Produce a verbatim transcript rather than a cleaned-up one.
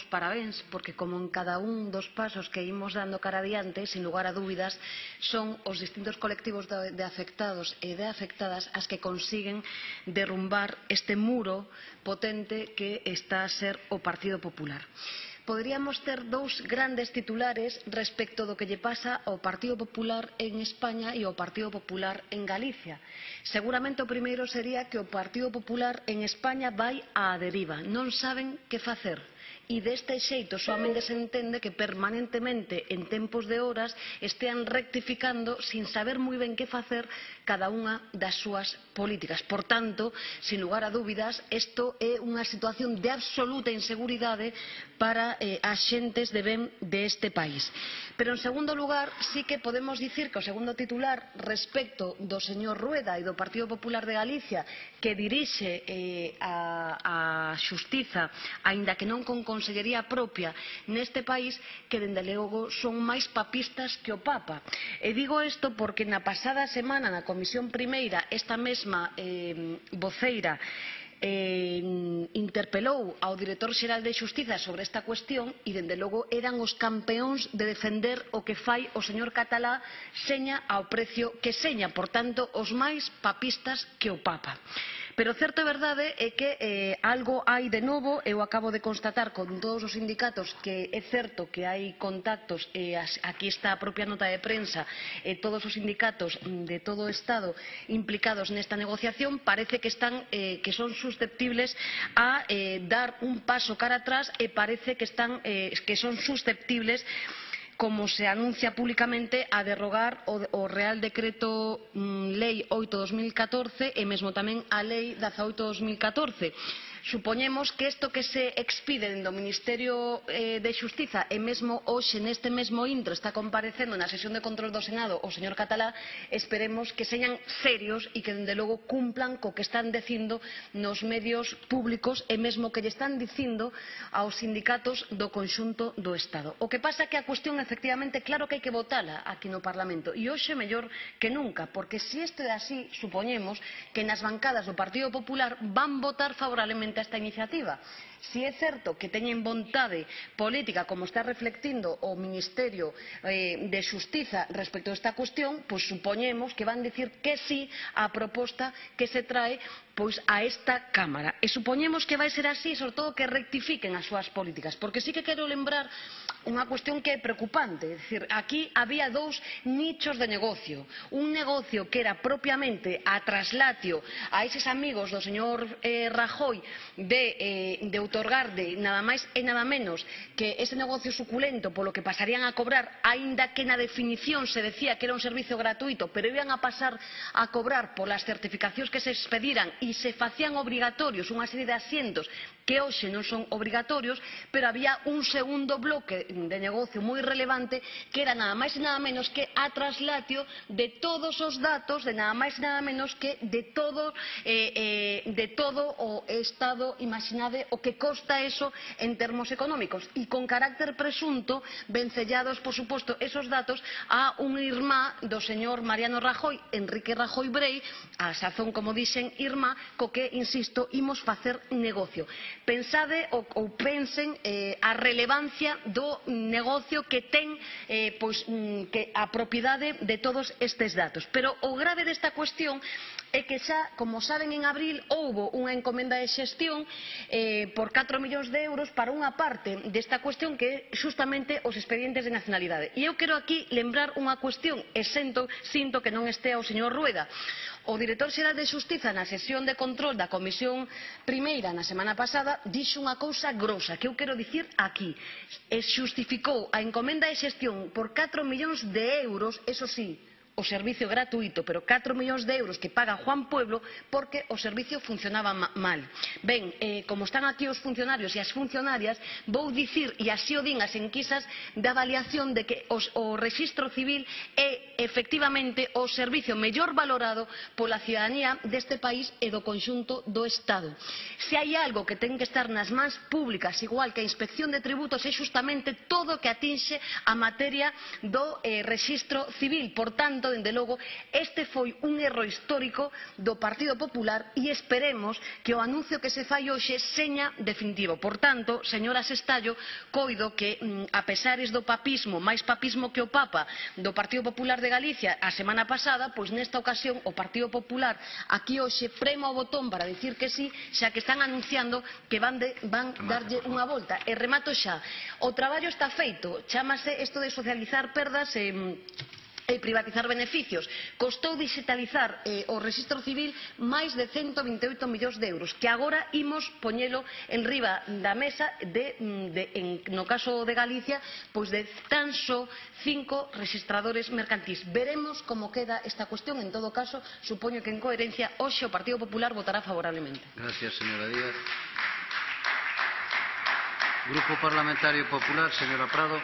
os parabéns, porque como en cada un dos pasos que imos dando cara adiante, sin lugar a dúbidas, son os distintos colectivos de, de afectados e de afectadas as que consiguen derrumbar este muro potente que está a ser o Partido Popular. Poderíamos ter dous grandes titulares respecto do que lle pasa ao Partido Popular en España e ao Partido Popular en Galicia. Seguramente o primeiro sería que o Partido Popular en España vai á deriva, non saben que facer. E deste xeito soamente se entende que permanentemente en tempos de horas estean rectificando sin saber moi ben que facer cada unha das súas políticas. Por tanto, sin lugar a dúbidas, isto é unha situación de absoluta inseguridade para eh, as xentes de ben deste país. Pero en segundo lugar, sí que podemos dicir que o segundo titular respecto do señor Rueda e do Partido Popular de Galicia, que dirixe eh, a, a Xustiza, aínda que non con Consellería propia neste país, que dende logo son máis papistas que o Papa. E digo isto porque na pasada semana na Comisión Primeira esta mesma eh, voceira eh, interpelou ao director xeral de Xustiza sobre esta cuestión e dende logo eran os campeóns de defender o que fai o señor Catalá seña ao precio que seña, por tanto os máis papistas que o Papa. Pero certo e verdade é que eh, algo hai de novo. Eu acabo de constatar con todos os sindicatos que é certo que hai contactos, e as, aquí está a propia nota de prensa, e todos os sindicatos de todo o Estado implicados nesta negociación parece que, están, eh, que son susceptibles a eh, dar un paso cara atrás, e parece que, están, eh, que son susceptibles, como se anuncia públicamente, a derrogar o, o Real Decreto mm, Lei oito barra dos mil catorce e mesmo tamén a Lei dezaoito barra dos mil catorce. Supoñemos que isto que se expide do Ministerio eh, de Xustiza, e mesmo hoxe neste mesmo intro está comparecendo na sesión de control do Senado o señor Catalá, esperemos que señan serios e que dende logo cumplan co que están dicindo nos medios públicos e mesmo que lle están dicindo aos sindicatos do conxunto do Estado. O que pasa é que a cuestión, efectivamente, claro que hai que votala aquí no Parlamento, e hoxe mellor que nunca, porque se isto é así, supoñemos que nas bancadas do Partido Popular van votar favorablemente a esta iniciativa. Si é certo que teñen vontade política, como está reflectindo o Ministerio eh, de Xustiza respecto a esta cuestión, pois supoñemos que van dicir que sí á proposta que se trae pois a esta Cámara. E supoñemos que vai ser así, sobre todo que rectifiquen as súas políticas, porque sí que quero lembrar unha cuestión que é preocupante. É dicir, aquí había dous nichos de negocio. Un negocio que era propiamente a traslatio a eses amigos do señor eh, Rajoy de, eh, de outorgarde nada máis e nada menos que ese negocio suculento polo que pasarían a cobrar, aínda que na definición se decía que era un servicio gratuito, pero iban a pasar a cobrar polas certificacións que se expediran e se facían obrigatorios unha serie de asientos que hoxe non son obrigatorios, pero había un segundo bloque de negocio moi relevante que era nada máis e nada menos que a traslatio de todos os datos, de nada máis e nada menos que de todo, eh, eh, de todo o Estado. Imaginade o que costa eso en termos económicos, e con carácter presunto vencellados, por suposto, esos datos a un irmá do señor Mariano Rajoy, Enrique Rajoy Brei, a sazón, como dixen, irmá, co que, insisto, imos facer negocio. Pensade ou, ou pensen eh, a relevancia do negocio que ten eh, pois, que a propiedade de todos estes datos. Pero o grave desta cuestión é que xa, como saben, en abril houbo unha encomenda de xestión eh, por catro millóns de euros para unha parte desta cuestión que é justamente os expedientes de nacionalidade. E eu quero aquí lembrar unha cuestión, e sinto, sinto que non estea o señor Rueda. O director xeral de Xustiza na sesión de control da Comisión Primeira na semana pasada dixo unha cousa grosa que eu quero dicir aquí, e xustificou a encomenda de xestión por catro millóns de euros, eso sí, o servicio gratuito, pero catro millóns de euros que paga Juan Pueblo porque o servicio funcionaba mal. Ben, eh, como están aquí os funcionarios e as funcionarias, vou dicir, e así o din as enquisas de avaliación, de que os, o Rexistro Civil é efectivamente o servicio mellor valorado pola cidadanía deste país e do conxunto do Estado. Se hai algo que ten que estar nas mans públicas, igual que a Inspección de Tributos, é justamente todo o que atinxe a materia do eh, Rexistro Civil. Por tanto, tanto, dende logo, este foi un erro histórico do Partido Popular e esperemos que o anuncio que se fai hoxe seña definitivo. Por tanto, señora Sestallo, coido que, a pesares do papismo, máis papismo que o Papa, do Partido Popular de Galicia a semana pasada, pois nesta ocasión o Partido Popular aquí hoxe prema o botón para dicir que sí, xa que están anunciando que van, de, van darlle unha volta. E remato xa. O traballo está feito. Chámase isto de socializar perdas e e privatizar beneficios. Costou digitalizar eh, o Rexistro Civil máis de ciento vinte e oito millóns de euros, que agora imos poñelo en riba da mesa de, de, en, no caso de Galicia, pois de tan só cinco rexistradores mercantís. Veremos como queda esta cuestión. En todo caso, supoño que en coherencia hoxe o Partido Popular votará favorablemente. Gracias, señora Díaz. Grupo Parlamentario Popular, señora Prado.